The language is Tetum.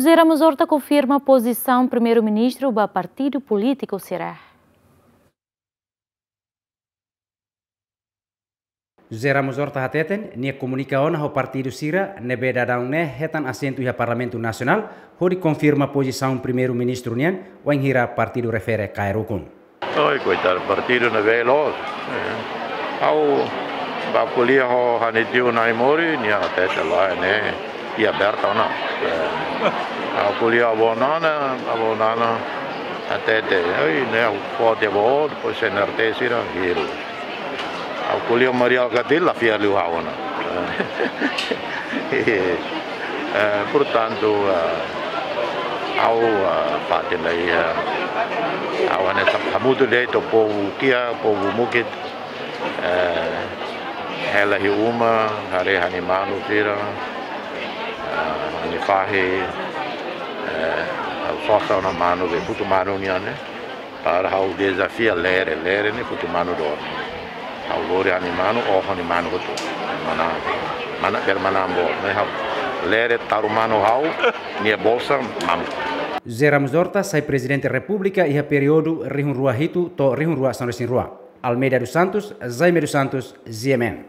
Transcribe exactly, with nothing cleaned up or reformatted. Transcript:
José Ramos Horta konfirma pozisaun Primeiru-Ministru ba partidu polítiku sira. José Ramos Horta hateten, nia komunika ona ho partidu sira ne'ebé daudaun ne'e hetan asentu iha Parlamentu Nasionál, hodi konfirma pozisaun Primeiru-Ministru nian, wainhira partidu refere kaer ukun. Oi, koitadu, partidu ne'ebé loos. Eh, ha'u bá ko'alia ho ha'u-nia tiu Naimori, nia hatete lae ne'e, iha aberta ona. Eh, ha'u ko'alia ho avó Nana, avó Nana hatete, oi, ne'e ha'u foti avó, depois C N R T sira hirus. Ha'u ko'alia ho Mari Alkatiri, la fiar liu ha'u ona. Eh, portantu, eh, ha'u, eh, fatin ida, eh, ha'u hanesan hamutuk de'it ho povu kiak, povu mukit, eh, hela iha uma, haree ha'u-nia manu sira, eh, ha'u-nia fahi, eh, ha'u sosa ona manu, be futu manu nian ne'e. Para ha'u dezafia lere, lere ne'e futu manu dor. Ha'u lori ha'u-nia manu, oho ha'u-nia manu hotu. Mana, mana ber mana ambo, ne'e ha'u. Lere taru manu ha'u, nia bolsa mamuk. José Ramos Horta sai Prezidente Repúblika iha períodu rihun rua hitu to'o rihun rua sanulu-resin-rua. Almeida dos Santos, Jaime dos Santos, G M N.